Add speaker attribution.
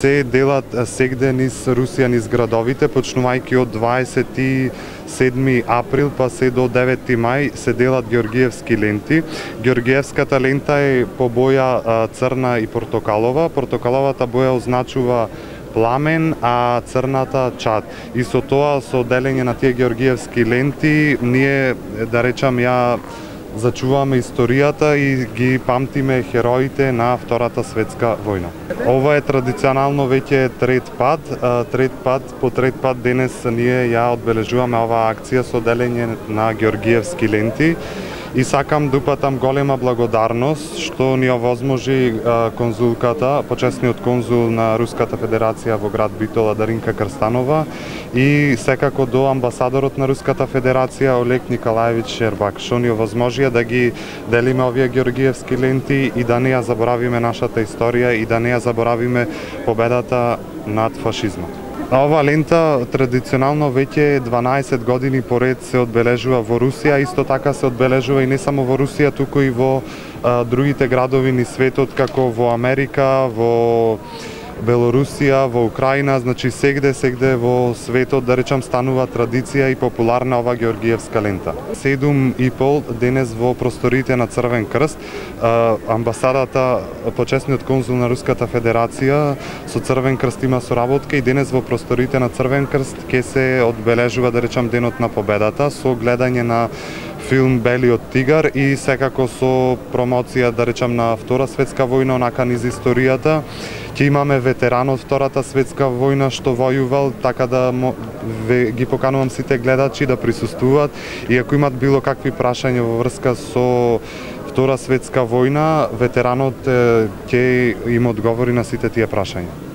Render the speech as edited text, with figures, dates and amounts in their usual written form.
Speaker 1: Се делат сегде низ Русија, низ градовите, почнувајќи од 27 април па се до 9 мај се делат георгиевски ленти. Георгиевската лента е по боја црна и портокалова. Портокаловата боја означува пламен, а црната чад. И со тоа, со делење на тие георгиевски ленти, ние, да речам, ја зачуваме историјата и ги памтиме хероите на Втората светска војна. Ова е традиционално веќе по трет пат денес ние ја одбележуваме оваа акција со делење на георгиевски ленти. И сакам да упатам голема благодарност што ни овозможи конзулката, почесниот конзул на Руската Федерација во град Битола Даринка Крстанова и секако до амбасадорот на Руската Федерација Олег Николаевич Шербак, што ни овозможија да ги делиме овие георгиевски ленти и да не ја заборавиме нашата историја и да не ја заборавиме победата над фашизмот. Ова лента традиционално веќе 12 години поред се одбележува во Русија, исто така се одбележува и не само во Русија, туку и во другите градови низ светот, како во Америка, во Белорусија, во Украина, значи сегде во светот, да речам, станува традиција и популарна ова георгиевска лента. 7,5 денес во просториите на Црвен крст, амбасадата, почесниот конзул на Руската Федерација со Црвен крст има соработка и денес во просториите на Црвен крст ќе се одбележува, да речам, денот на победата со гледање на филм Белиот тигар и секако со промоција, да речам, на Втора светска војна, онака низ историјата. Ќе имаме ветеран од Втората светска војна што војувал, така да ги поканувам сите гледачи да присуствуваат и ако имат било какви прашања во врска со Втора светска војна, ветеранот ќе им одговори на сите тие прашања.